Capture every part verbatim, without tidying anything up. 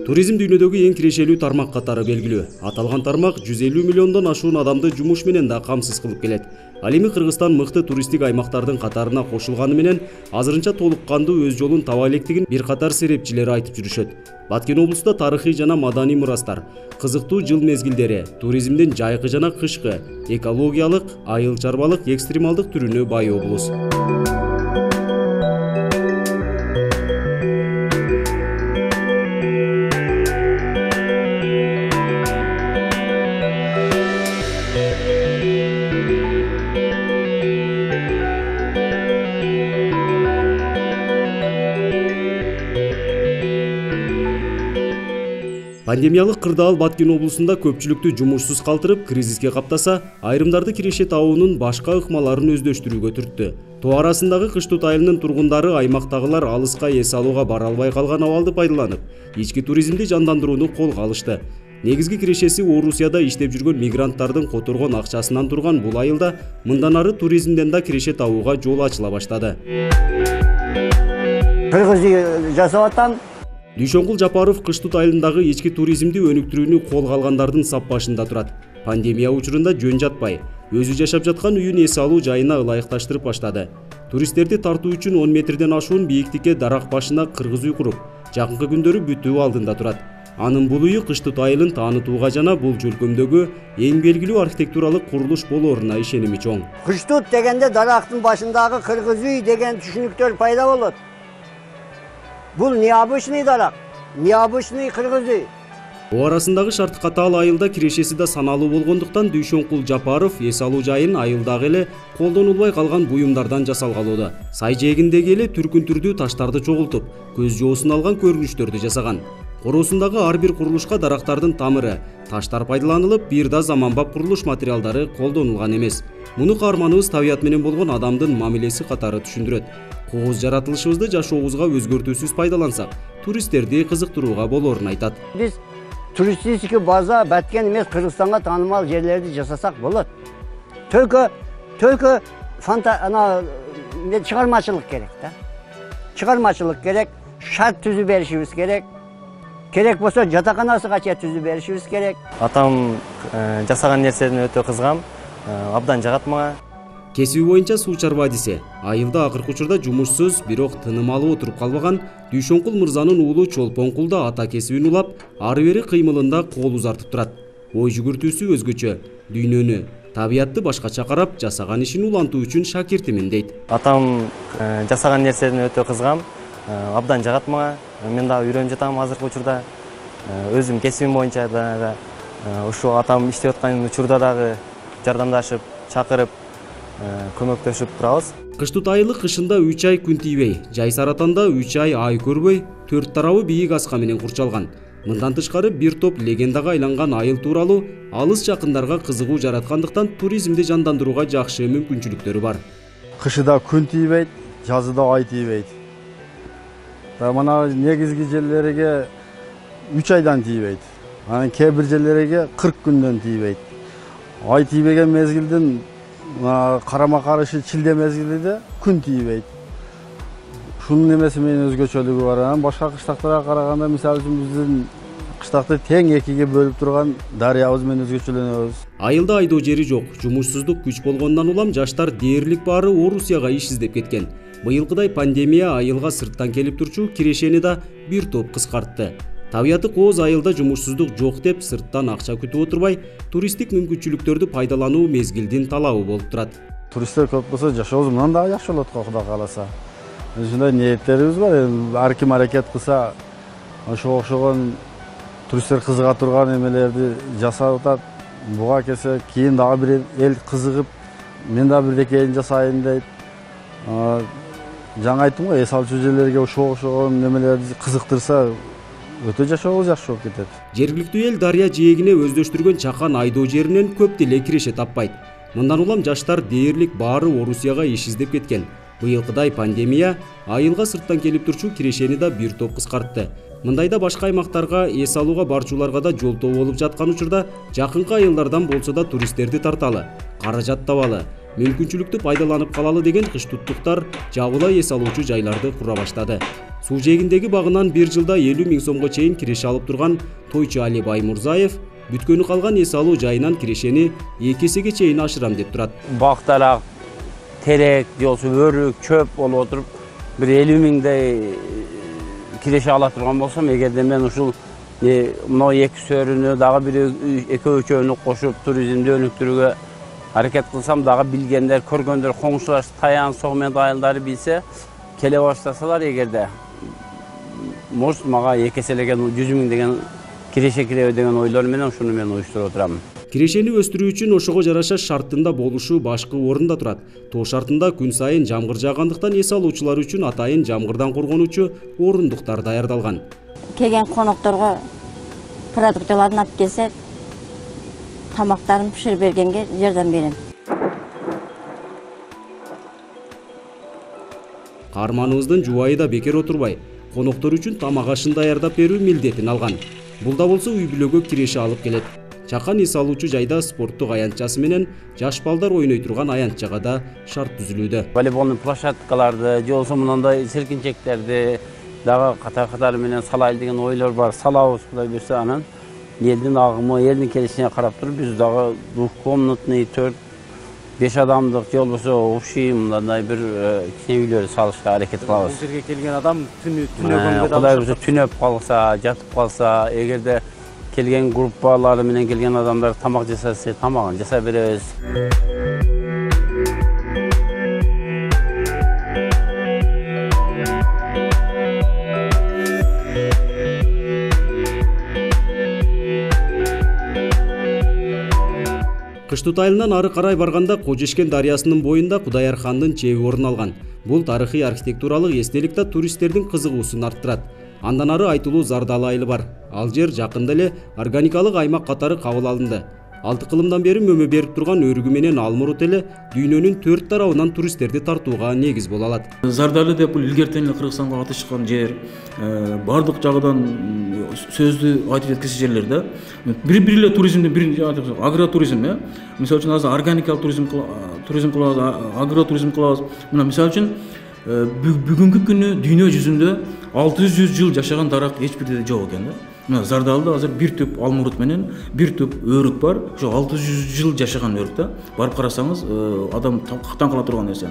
Туризм дүйнөдөгү эң кирешелүү тармак катары белгилүү. Аталган тармак жүз элүү миллиондон ашуун адамды жумуш менен да камсыз кылып келет. Ал эми Кыргызстан мыкты туристтик аймактардын катарына кошулганы менен азырынча толук кандуу өз жолун таба электигин бир катар серепчилер айтып жүрүшөт. Баткен облусунда тарыхый жана маданий мурастар, кызыктуу жыл мезгилдери, туризмдин жайкы жана кышкы, экологиялык, айыл чарбалык, экстремалдык түрүнө бай облус. Пандемиялык кырдаал Баткен облусунда көпчүлүктү жумушсуз калтырып, кризиске каптаса, айрымдарды киреше табуунун башка ыкмаларын өздөштүрүүгө түрттү. Тоо арасындагы Кыштут айылынын тургундары аймактагылар алыска эс алууга бара албай калган абалды пайдаланып, ички туризмди жандандырууну колго алышты. Негизги кирешеси Орусияда иштеп жүргөн мигранттардын которгон акчасынан турган бул айылда мындан ары туризмден да киреше табууга жол ачыла баштады. Кыргыз жасап атам. Дүйшөнкул Жапаров Кыштут айылындагы ички туризмди өнүктүрүүнү колго алгандардын сап башында турат. Пандемия учурунда жөн жатпай, өзү жашап жаткан үйүн эс алуу жайына ылайыкташтырып баштады. Туристтерди тартуу үчүн он метрден ашуун бийиктикке дарак башына кыргыз үй куруп, жакынкы күндөрү бүтүү алдында турат. Анын бул үйү Кыштут айылын таанытууга жана бул жөлкөмдөгү эң белгилүү архитектуралык курулуш болооруна ишеними чоң. Кыштут дегенде дарактын башындагы кыргыз үй деген түшүнүктөр пайда болот. Бул необычный дарак, необычный кыргыз үй. О арасындагы шарт катаал айылда кирешеси да саналуу болгондуктан Дүйшөнкул Жапаров эс алуу жайын айылдагы эле колдонулбай калган буюмдардан жасалгалоодо. Сай жээгиндеги эле түркүн түрдүү таштарды чогултуп, көз жоосун алган көрүнүштөрдү жасаган. Короосундагы ар бир курулушка дарактардын тамыры, таштар пайдаланылып, бир да заманбап курулуш материалдары колдонулган эмес. Муну каарманыбыз табият менен болгон адамдын мамилеси катары түшүндүрөт. Кооз жаратылышыбызды жашообузга өзгөртүүсүз пайдалансак, туристтерди кызыктырууга болоорун айтат. Биз туристический база Баткен эмес, Кыргызстанга таанымал жерлерди жасасак болот. Только только фанта ана чыгармачылык керек да. Чыгармачылык керек, шарт түзүп беришибиз керек. Керек болсо жатаканасыга чейин түзүп беришибиз керек. Атам жасаган нерседен өтө кызгам, абдан жагат мага. Кесиби боюнча суу чарба адиси. Айылда акыркы учурда жумушсуз, бирок тыным алып отуруп калбаган Дүйшөнкул мырзанын уулу Чолпонкул да ата кесибин улап, ары бери кыймылында кол узартып турат. Ой жүгүртүүсү өзгөчө, дүйнөнү, табиятты башкача карап, жасаган ишин улантуу үчүн шакиртимин дейт. Атам жасаган нерседен өтө кызгам, абдан жагат мага. Мен да үйрөнүп жатам азыркы учурда. Өзүм кесибим боюнча дагы ушул атам иштеп аткан учурда дагы жардамдашып, чакырып, көмөктөшүп турабыз. Кыштут айылы кышында үч ай күн тийбей, жай саратанда үч ай ай көрбөй, төрт тарабы бийик аска менен курчалган. Мындан тышкары бир топ легендага айланган айыл тууралуу алыс жакындарга кызыгуу жараткандыктан туризмди жандандырууга жакшы мүмкүнчүлүктөрү бар. Кышыда күн тийбейт, жазда ай тийбейт. Мына негизги жерлерге үч айдан тийбейт. Анан кээ бир жерлерге кырк күндөн тийбейт. Ай тийбеген мезгилдин карама каршы чилде мезгилинде күн тийбейт. Шунун эмеси менен өзгөчөлүгү бар. Анан башка кыштактарга караганда, мисалы үчүн биздин кыштакты тең экиге бөлүп турган дарыябыз менен өзгөчөлөнөбүз. Айылда айдоо жери жок, жумушсуздук күч болгондон улам жаштар дээрлик баары Орусияга иш издеп кеткен. Быйылкыдай пандемия айылга сырттан келип турчу кирешени да бир топ кыскартты. Табияты кооз айылда жумушсуздук жок деп сырттан акча күтүп отурбай, туристтик мүмкүнчүлүктөрдү пайдалануу мезгилдин талабы болуп турат. Туристтер көп болсо жашообуз мындан да жакшы болот го, Кудай кааласа. Ушундай ниеттерибиз бар. Ар ким аракет кылса, ошого окшогон туристтер кызыга турган эмелерди жасап атат. Буга келсе, кийин дагы бир эл кызыгып, мен да бирдекейин жасайын дейт. Жаңа айттым го, эс алчу жерлерге ошого окшогон немелерди кызыктырса, өтө жашообуз жакшы болуп кетет. Жергиликтүү эл дарыя жээгине өздөштүргөн чакан айдоо жеринен көп деле киреше таппайт. Мындан улам жаштар дээрлик баары Орусияга иш издеп кеткен. Быйылкыдай пандемия айылга сырттан келип турчу кирешени да бир топ кыскартты. Мындайда башка аймактарга эс алууга барчуларга да жолтоо болуп жаткан учурда жакынкы айылдардан болсо да туристтерди тарталы. каражат табалы, мүмкүнчүлүктү пайдаланып калалы деген кыштуттуктар жабыла эс алуучу жайларды кура баштады. Суу жээгиндеги багынан бир жылда элүү миң сомго чейин киреше алып турган тойчу Али Баймурзаев бүткөнү калган эс алуу жайынан кирешени эки эсеге чейин ашырам деп турат. Бактарак, терек, же болбосо өрүк, чөп болуп отуруп бир элүү миңдей киреше ала турган болсом, эгерде мен ушул мына эки сөрүнү дагы бир экөө үчөөнү кошуп туризмди өнүктүрүүгө аракет кылсам, дагы билгендер, көргөндөр, коңшулаш, Таян, Согмент айылдары билсе, келе баштасалар, эгерде может мага эки эселеген жүз миң деген киреше киреби деген ойлор менен ушуну мен уюштуруп отурам. Кирешени өстүрүү үчүн ошого жараша шарттында болушу башкы орунда турат. Тоо шартында күн сайын жамгыр жаагандыктан эс алуучулар үчүн атайын жамгырдан коргонуучу орундуктар даярдалган. Келген конокторго продуктыларын алып келсе, тамактарын пиширип бергенге жардам берем. Каарманыбыздын жубайы да бекер отурбай, коноктор үчүн тамак ашын даярдап берүү милдетин алган. Бул да болсо үй бүлөгө киреше алып келет. Чакан эс алуучу жайда спорттук аянтчасы менен жаш балдар ойной турган аянтчага да шарт түзүлүүдө. Волейболдун площадкаларды, же болбосо мындай селкинчектерди дагы катар-катар менен салайлы деген ойлор бар. Салабыз Кудай буйрса, анан элдин агымы, элдин келишине карап туруп, биз дагы двухкомнатный төрт беш адамдык же болбосо общий мындай бир кичине үйлөр салышка аракет кылабыз. Бул жерге келген адам түнөгөнгө да Кудай буйрса түнөп калса, жатып калса, эгерде келген группалары менен келген адамдар тамак жасаса, тамагын жасап беребиз. Кыштыт айылынан ары карай барганда Кожешкен дарыясынын боюнда Кудаяр хандын чеби орун алган. Бул тарыхый архитектуралык эстелик да туристтердин кызыгуусун арттырат. Андан ары айтылуу Зардалы айылы бар. Ал жер жакында эле органикалык аймак катары кабыл алынды. Алты кылымдан бери мөмө берип турган өрүгү менен Алмурут эле дүйнөнүн төрт тарабынан туристтерди тартууга негиз боло алат. Зардалы деп бул илгертен эле Кыргызстанга атышкан жер, бардык жагынан сөздү айтып жеткизген жерлер да. Бир-бир эле туризмдин бир агротуризм, э. Мисалы үчүн азыр органикалык туризм туризм кылабыз, агротуризм кылабыз. Мына мисалы үчүн бүгүнкү күнү дүйнө жүзүндө алты жүз жыл жашаган дарак эч бир жерде жок экен да. Мына Зардалыда азыр бир түп Алмурут менен бир түп өрүк бар. Ошо алты жүз жыл жашаган өрүк да. Барып карасаңыз, адам таң кала турган нерсе.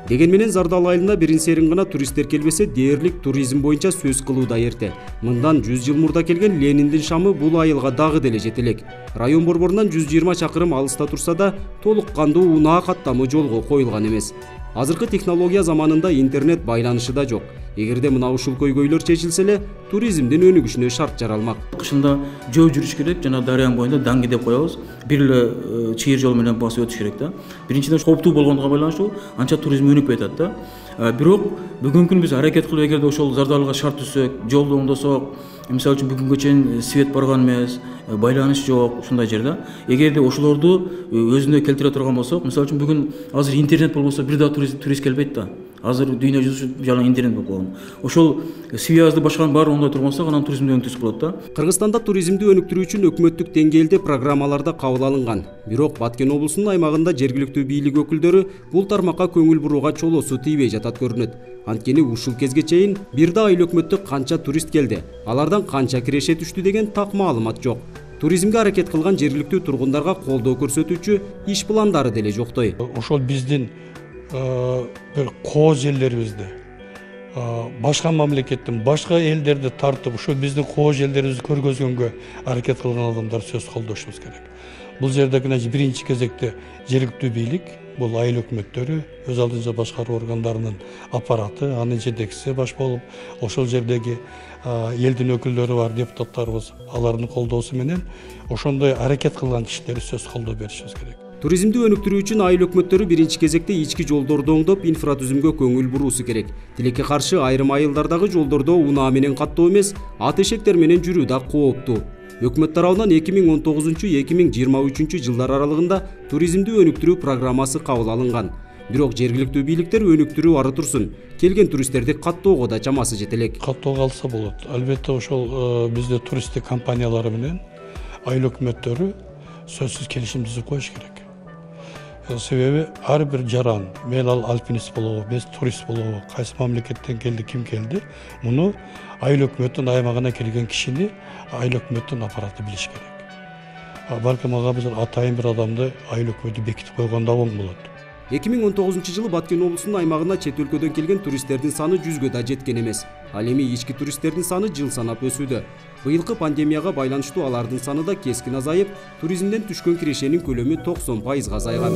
Деген менен Зардалы айылына бирин-серин гана туристтер келбесе, дээрлик туризм боюнча сөз кылуу да эрте. Мындан жүз жыл мурда келген Лениндин шамы бул айылга дагы деле жете элек. Район борборунан жүз жыйырма чакырым алыста турса да, толук кандуу унаа каттамы жолго коюлган эмес. Азыркы технология заманында интернет байланышы да жок. Эгерде мына ушул көйгөйлөр чечилсе эле, туризмдин өнүгүшүнө шарт жаралмак. Кышында жөө жүрүш керек, жана дарыянын боюнда даңги деп коебуз. Бир эле чыйыр жол менен басып өтүш керек да. Биринчиден кооптуу болгондугу байланыштуу, анча туризм өнүкпөй атат да. Бирок бүгүнкү күнү биз аракет кылып, эгерде ошол Зардалыга шарт түзсөк, жолду оңдосок, мисалы үчүн бүгүнгө чейин свет барган эмес, байланыш жок, ушундай жерде. Эгерде ошолорду өзүнө келтире турган болсок, мисалы үчүн бүгүн азыр интернет болбосо бир да турист турист келбейт да. Азыр дүйнө жүзү жалаң интернет болуп калган. Ошол связьды башканын баары оңдой турган болсок, анан туризмди өнүктүрүп болот да. Кыргызстанда туризмди өнүктүрүү үчүн өкмөттүк деңгээлде программаларда кабыл алынган. Бирок Баткен облусунун аймагында жергиликтүү бийлик өкүлдөрү бул тармакка көңүл бурууга чолоосу тийбей жатат көрүнөт. Анткени ушул кезге чейин бир да айыл өкмөттүк канча турист келди, алардан канча киреше түштү деген так маалымат жок. Туризмге аракет кылган жергиликтүү тургундарга колдоо көрсөтүүчү иш пландары деле жоктой. Ошол биздин бир кооз жерлерибизди башка мамлекеттин, башка элдерди тартып, ошо биздин кооз жерлерибизди көргөзгөнгө аракет кылган адамдар сөз колдошубуз керек. Бул жерде биринчи кезекте жергиликтүү бийлик, бул айыл өкмөттөрү, өз алдынча башкаруу органдарынын аппараты, анын жетекчиси баш болуп, ошол жердеги элдин өкүлдөрү бар, депутаттарыбыз, алардын колдоосу менен ошондой аракет кылган кишилерге сөз колдоо беришибиз керек. Туризмди өнүктүрүү үчүн айыл өкмөттөрү биринчи кезекте ички жолдорду оңдоп, инфратүзүмгө көңүл буруусу керек. Тилекке каршы айрым айылдардагы жолдордо унаа менен каттоо эмес, ат эшектер менен жүрүү да кооптуу. Өкмөт тарабынан эки миң он тогузунчу — эки миң жыйырма үчүнчү жылдар аралыгында туризмди өнүктүрүү программасы кабыл алынган. Бирок жергиликтүү бийликтер өнүктүрүү ары турсун, келген туристтерди каттоого да чамасы жете элек. Каттоого алса болот. Албетте ошол бизде туристтик компаниялары менен айыл өкмөттөрү сөзсүз келишим түзүп коюш керек. Себеби ар бир жаран, мейли ал альпинист болобу, эмес турист болобу, кайсы мамлекеттен келди, ким келди, муну айыл өкмөттүн аймагына келген кишини айыл өкмөттүн аппараты билиш керек. Балким ага биз атайын бир адамды айыл өкмөтү бекитип койгондо оң болот. эки миң он тогузунчу жылы Баткен облусунун аймагына чет өлкөдөн келген туристтердин саны жүзгө да жеткен эмес. Ал эми ички туристтердин саны жыл санап өсүүдө. Быйылкы пандемияга байланыштуу алардын саны да кескин азайып, туризмден түшкөн кирешенин көлөмү токсон пайызга азайган.